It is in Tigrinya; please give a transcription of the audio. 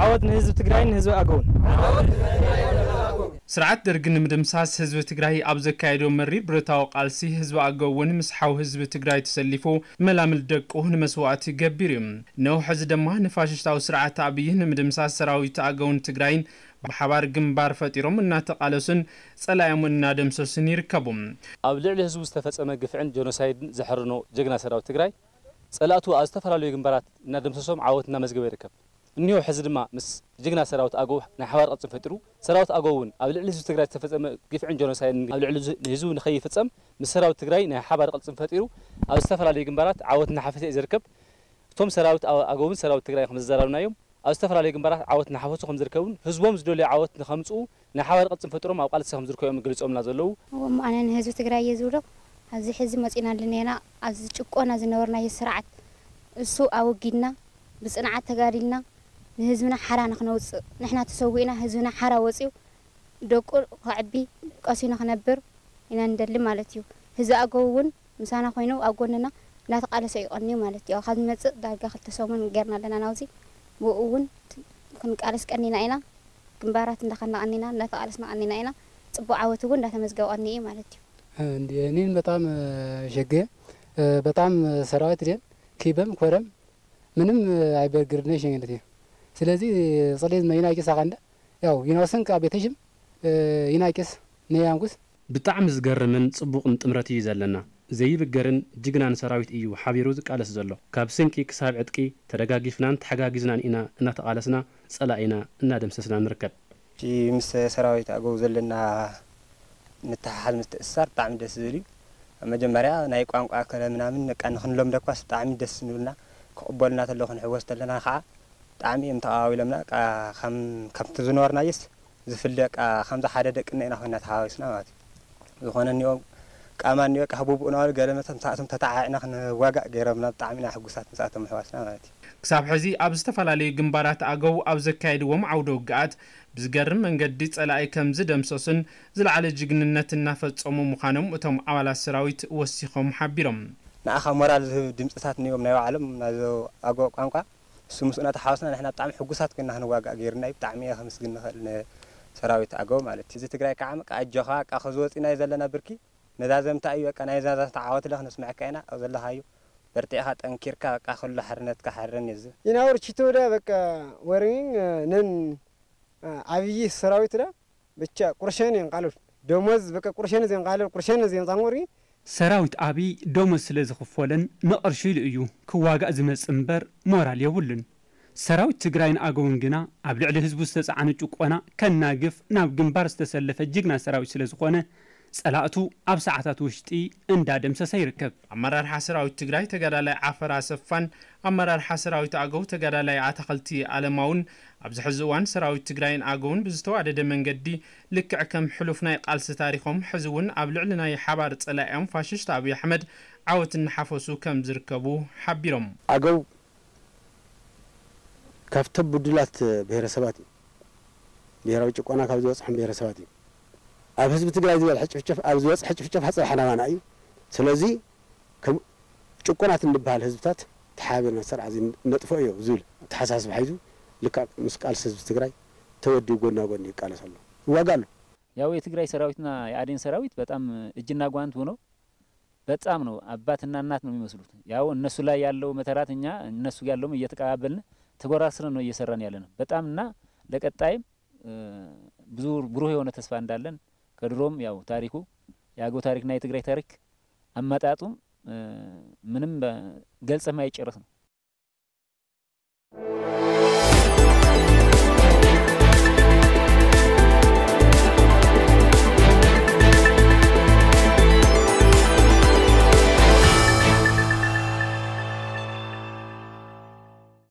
ዓወት ንህዝቢ ትግራይን ንህዝቢ ኣገውን። ስርዓት ደርግ ንምድምሳስ ህዝቢ ትግራይ ኣብ ዘካየዶ መሪር ብረታዊ ቃልሲ፣ ህዝቢ ኣገው እውን ምስ ሓው ህዝቢ ትግራይ ተሰሊፉ መላምል ደቁ ንመስዋእቲ ገቢሩ እዩ። ነውሕ እዚ ድማ ንፋሽስታዊ ስርዓት ኣብይ ንምድምሳስ ሰራዊት ኣገውን ትግራይን ብሓባር ግንባር ፈጢሮም እናተቓለሱን ጸላዮም እናደምሰሱን ይርከቡ። ኣብ ልዕሊ ህዝቡ ዝተፈጸመ ግፍዕን ጀኖሳይድን ዘሕርኖ ጀግና ሰራዊት ትግራይ ጸላእቱ ኣብ ዝተፈላለዩ ግንባራት እናደምሰሶም ዓወት እናመዝገበ ይርከብ። እኒሆ ሕዚ ድማ ምስ ጅግና ሰራዊት ኣገው ናይ ሓባር ቅልጽም ፈጢሩ፣ ሰራዊት ኣገው እውን ኣብ ልዕሊ ህዝቢ ትግራይ ዝተፈጸመ ግፍዕን ጀኖሳይድን ኣብ ልዕሊ ህዝቢ ንኸይፍጸም ምስ ሰራዊት ትግራይ ናይ ሓባር ቅልጽም ፈጢሩ ኣብ ዝተፈላለዩ ግንባራት ዓወት እናሓፈሰ እዩ ዝርከብ። እቶም ሰራዊት ኣገውን ሰራዊት ትግራይ ከም ዘዘራርብናዮም ኣብ ዝተፈላለዩ ግንባራት ዓወት እናሓፈሱ ከም ዝርከቡን ህዝቦም ዝደልዮ ዓወት ንኸምፅኡ ናይ ሓባር ቅልፅም ፈጥሮም ኣብ ቃልሲ ከም ዝርከቡ እዮም ገሊፆምና ዘለዉ። እሞ ኣነ ንህዝቢ ትግራይ እየ ዝብሎ፣ ኣብዚ ሕዚ መፂና ኣለና ኢና። ኣብዚ ጭቆና ዝነበርናዮ ስርዓት እሱ ኣወጊድና ብፅንዓት ተጋዲልና ንህዝብና ሓራ ንክነውፅእ ንሕና ተሰዊእና ህዝብና ሓራ ወፂኡ ደቁ ከዕቢ ቀሲኑ ክነብር ኢና ንደሊ ማለት እዩ። ህዝቢ ኣገው እውን ምሳና ኮይኑ ኣብ ጎንና እንዳተቃለሰ እዩ ቀንዩ ማለት እዩ። ካብ ዝመፅእ ዳርጋ ክልተ ሰሙን ጌርና ኣለና ናውዚ። ብኡ እውን ክንቃለስ ቀኒና ኢና። ግንባራት እንዳኸና ቀኒና እንዳተቃለስና ቀኒና ኢና። ፅቡቅ ዓወት እውን እንዳተመዝገበ ቀኒ እዩ ማለት እዩ። እንዲ እኔን በጣም ሸገ በጣም ሰራዊት ደን ኪበም ኮረም ምንም ኣይበርግርነ ሸንገለት እዩ። ስለዚህ ጽሌት መይና ይቅሳ ካንደ ያው ይናውስን ቃ ቤተሽም ይናይቅስ ነያንጉስ። ብጣዕሚ ዝገርምን ጽቡቕን ጥምረት እዩ ዘለና። ዘይብገርን ጅግናን ሰራዊት እዩ ሓቢሩ ዝቃለስ ዘሎ። ካብ ስንቂ ክሳብ ዕጥቂ ተደጋጊፍናን ተሓጋጊዝናን ኢና እናተቓለስና ጸላኢና እናደምሰስና ንርከብ። ምስ ሰራዊት ኣገው ዘለና ምትሕሓዝ ምትእስሳር ብጣዕሚ ደስ ዝብል እዩ። ኣብ መጀመርያ ናይ ቋንቋ ከለ ምናምን በቃ ንክንለምዶ እኳስ ብጣዕሚ ደስ ንብልና፣ ክቕበሉና ተለዉ ክንሕወስ ተለና ከዓ ብጣዕሚ እዮም ተቐባቢሎምና። በቃ ከም ከምቲ ዝነበርናዮስ ዝፍለ በቃ ከምዚ ሓደ ደቅና ኢና ኮይና ተሓዋዊስና ማለት እዩ። ዝኾነ እኒኦ ቃማ እኒኦ በቃ ህቡብኡ ናበሉ ገለ መተ ምሳእቶም ተተዓዒዕና ክንዋጋእ ገይሮምና። ብጣዕሚ ኢና ሕጉሳት ምሳእቶም ምሕዋስና ማለት እዩ። ክሳብ ሕዚ ኣብ ዝተፈላለዩ ግንባራት ኣገው ኣብ ዘካየድዎም ዓውደ ውግኣት ብዝገርም መንገዲ ጸላኢ ከም ዝደምሰሱን ዝለዓለ ጅግንነት እናፈጸሙ ምዃኖም እቶም ኣባላት ሰራዊት ወሲኾም ሓቢሮም። ንኣኻ ሞራል ዝህብ ድምፅታት እኒኦም ናይ ባዕሎም ናይዞ ኣገው ቋንቋ እሱ ምስኡ እናተሓወስና ንሕና ብጣዕሚ ሕጉሳት ኮይና ክንዋጋእ ገይሩና እዩ። ብጣዕሚ እየ ከምስግን ንኽእል ንሰራዊት ኣገው ማለት እዩ። እዚ ትግራይ ከዓ በቃ ኣጆኻ በቃ ከዚ ወፂናዮ ዘለና ብርኪ መዛዘምታ እዩ። በቃ ናይ ዛዛምታ ዓወት ለ ክነስምዐካ ኢና። ኣብ ዘለኻዮ በርቲዕኻ ጠንኪርካ በቃ ኩሉ ሓርነትካ ሓርረን እዩ እዚ። Inawar chitoda bakka warrin nan abiyyi saraawitidha bicha qurshen hin qaalul domoz bakka qurshen zin qaalul qurshen zin qanguri ሰራዊት ኣብይ ደሞዝ ስለ ዝኽፈሎን ንቕርሺ ኢሉ እዩ ክዋጋእ ዝመጽእ እምበር ሞራል የብሉን። ሰራዊት ትግራይን ኣገውን ግና ኣብ ልዕሊ ህዝቡ ዝተጻዕነ ጭቆና ከናግፍ ናብ ግንባር ዝተሰለፈ ጅግና ሰራዊት ስለ ዝኾነ ጸላእቱ ኣብ ሰዓታት ውሽጢ እንዳደምሰሰ ይርከብ። ኣመራርሓ ሰራዊት ትግራይ ተጋዳላይ ዓፈር ኣሰፋን ኣመራርሓ ሰራዊት ኣገው ተጋዳላይ ኣታኸልቲ ኣለማውን ኣብዚ ሕዚ እዋን ሰራዊት ትግራይን ኣገውን ብዝተዋደደ መንገዲ ልክዕ ከም ሕሉፍ ናይ ቃልሲ ታሪኾም ሕዚ እውን ኣብ ልዕሊ ናይ ሓባር ጸላኢኦም ፋሽስት ኣብይ ኣሕመድ ዓወት እናሓፈሱ ከም ዝርከቡ ሓቢሮም። ኣገው ካብቶም ብዱላት ብሄረሰባት እዩ። ብሄራዊ ጭቆና ካብ ዝበፅሖም ብሄረሰባት እዩ። ኣብ ህዝቢ ትግራይ ዝበፅሐ ጭፍጨፍ ኣብ ዝበፅሐ ጭፍጨፍ ኣፀባሕ ናባና እዩ። ስለዚ ከም ጭቁናት እንበሃል ህዝብታት ተሓባቢርና ስርዓት እዚ ነጥፎ እዩ ዝብል ኣተሓሳስባ ሒዙ ልክዕ ምስ ቃልሲ ህዝቢ ትግራይ ተወዲኡ ጎና ጎኒ ይቃለስ ኣሎ፣ ይዋጋ ኣሎ። ያው የትግራይ ሰራዊትና የአዴን ሰራዊት በጣም እጅና ጓንት ሆኖ በጣም ነው አባትና እናት ነው የሚመስሉት። ያው እነሱ ላይ ያለው መተራት እኛ እነሱ ያለውም እየተቀባበልን ተጎራስረን ነው እየሰራን ያለ ነው። በጣም እና ለቀጣይም ብዙ ብሩህ የሆነ ተስፋ እንዳለን ከድሮም ያው ታሪኩ የአገው ታሪክና የትግራይ ታሪክ አመጣጡም ምንም ገልጸ የማይጨረስ ነው።